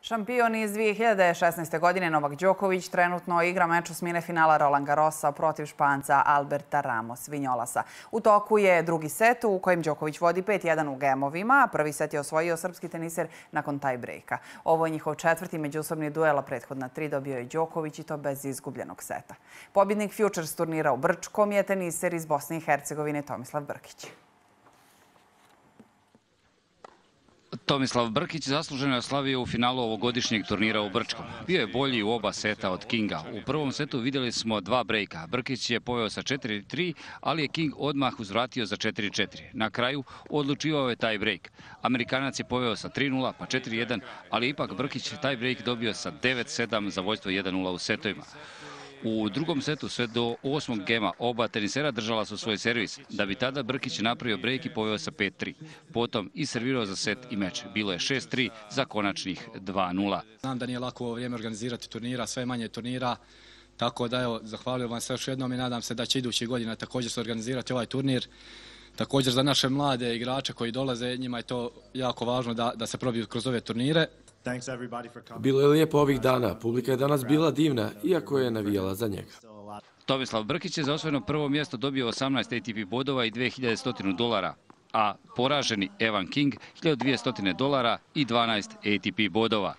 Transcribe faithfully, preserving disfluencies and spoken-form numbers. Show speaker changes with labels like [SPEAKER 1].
[SPEAKER 1] Šampion iz dvije hiljade šesnaeste. godine Novak Đoković trenutno igra meč osmine finala Roland Garrosa protiv Španca Alberta Ramos Vinolasa. U toku je drugi set u kojem Đoković vodi pet jedan u gemovima, a prvi set je osvojio srpski teniser nakon taj brejka. Ovo je njihov četvrti međusobni duel, a prethodna tri dobio je Đoković i to bez izgubljenog seta. Pobjednik Futures turnira u Brčkom je teniser iz Bosne i Hercegovine Tomislav Brkić.
[SPEAKER 2] Tomislav Brkić zasluženo je oslavio u finalu ovogodišnjeg turnira u Brčkom. Bio je bolji u oba seta od Kinga. U prvom setu vidjeli smo dva brejka. Brkić je poveo sa četiri tri, ali je King odmah uzvratio za četiri četiri. Na kraju odlučivao je taj brejk. Amerikanac je poveo sa tri nula pa četiri jedan, ali ipak Brkić taj brejk dobio sa devet sedam za vojstvo jedan nula u setovima. U drugom setu sve do osmog gema oba tenisera držala su svoj servis, da bi tada Brkić napravio brejk i poveo sa pet tri. Potom i servirao za set i meč. Bilo je šest tri za konačnih dva nula.
[SPEAKER 3] Znam da nije lako ovo vrijeme organizirati turnira, sve manje turnira, tako da evo, zahvalio vam se još jednom i nadam se da će idući godina također se organizirati ovaj turnir. Također za naše mlade igrače koji dolaze, njima je to jako važno da, da se probiju kroz ove turnire.
[SPEAKER 4] Bilo je lijepo ovih dana. Publika je danas bila divna, iako je navijala za njega.
[SPEAKER 2] Tomislav Brkić je za osvojeno prvo mjesto dobio osamnaest A T P bodova i dve hiljade sto dolara, a poraženi Evan King hiljadu dvjesto dolara i dvanaest A T P bodova.